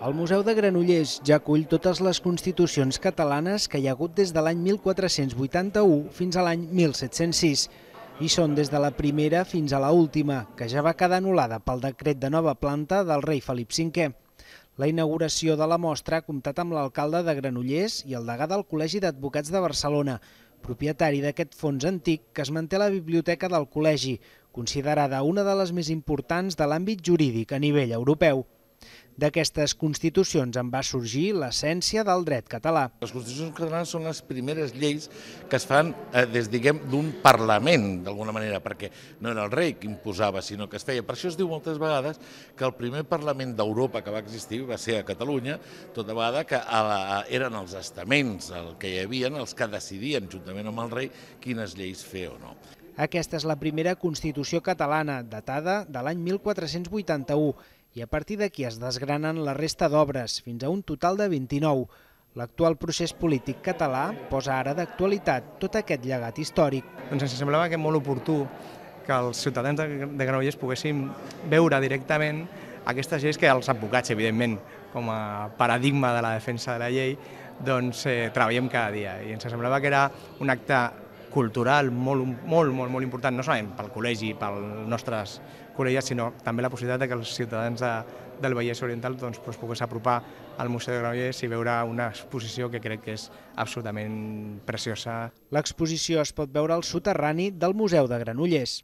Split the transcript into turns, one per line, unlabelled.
El Museu de Granollers ja acull totes les constitucions catalanes que hi ha hagut des de l'any 1481 fins a l'any 1706. I són des de la primera fins a la última, que ja va quedar anul·lada pel decret de nova planta del rei Felip V. La inauguració de la mostra ha comptat amb l'alcalde de Granollers i el degà del Col·legi d'Advocats de Barcelona, propietari d'aquest fons antic que es manté a la biblioteca del col·legi, considerada una de les més importants de l'àmbit jurídic a nivell europeu. D'aquestes constitucions en va sorgir l'essència del dret català.
Les constitucions catalanes són les primeres lleis que es fan des d'un Parlament, d'alguna manera, perquè no era el rei qui imposava, sinó que es feia. Per això es diu moltes vegades que el primer Parlament d'Europa que va existir va ser a Catalunya, tota vegada que eren els estaments el que hi havia, els que decidien, juntament amb el rei, quines lleis fer o no.
Aquesta és la primera Constitució catalana, datada de l'any 1481, i a partir d'aquí es desgranen la resta d'obres, fins a un total de 29. L'actual procés polític català posa ara d'actualitat tot aquest llegat històric.
Doncs ens semblava que molt oportú que els ciutadans de Granollers poguessin veure directament aquestes lleis que els advocats, evidentment, com a paradigma de la defensa de la llei, doncs treballem cada dia. I ens semblava que era un acte cultural molt important, no solament pel col·legi, pels nostres col·legiats, sinó també la possibilitat que els ciutadans del Vallès Oriental poguessin apropar al Museu de Granollers i veure una exposició que crec que és absolutament preciosa.
L'exposició es pot veure al soterrani del Museu de Granollers.